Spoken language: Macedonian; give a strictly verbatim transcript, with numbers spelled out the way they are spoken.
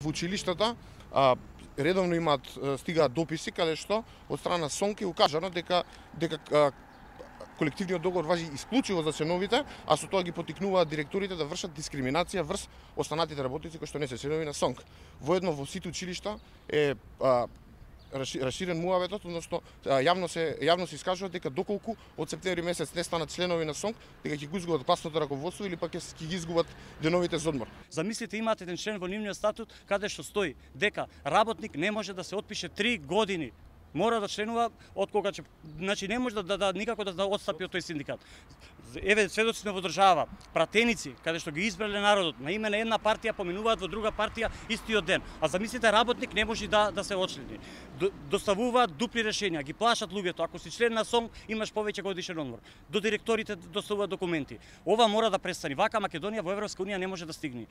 Во училиштата а, редовно имаат стигаат дописи каде што од страна СОНК е укажано дека дека а, колективниот договор важи исклучиво за членовите, а со тоа ги поттикнуваат директорите да вршат дискриминација врз останатите работници кои што не се членови на СОНК. Воедно во сите училишта е а, расширен муаветот, односно јавно се јавно се искажува дека доколку од септември месец не станат членови на СОНК, дека ќе го изгубат класното раководство или пак ќе ги изгубат деновите за одмор. Замислите, имате еден член во нивниот статут каде што стои дека работник не може да се отпише три години. Мора да членува од кога ќе, значи не може да, да, да никако да, да отстапи од тој синдикат. Еве сведоците во држава, пратеници каде што ги избрале народот, на име на една партија поменуваат во друга партија истиот ден. А замислите, работник не може да да се очлени. Доставуваат дупли решенија, ги плашат луѓето. Ако си член на СОНК, имаш повеќе годишен одмор. До директорите доставуваат документи. Ова мора да престане. Вака Македонија во Европска унија не може да стигне.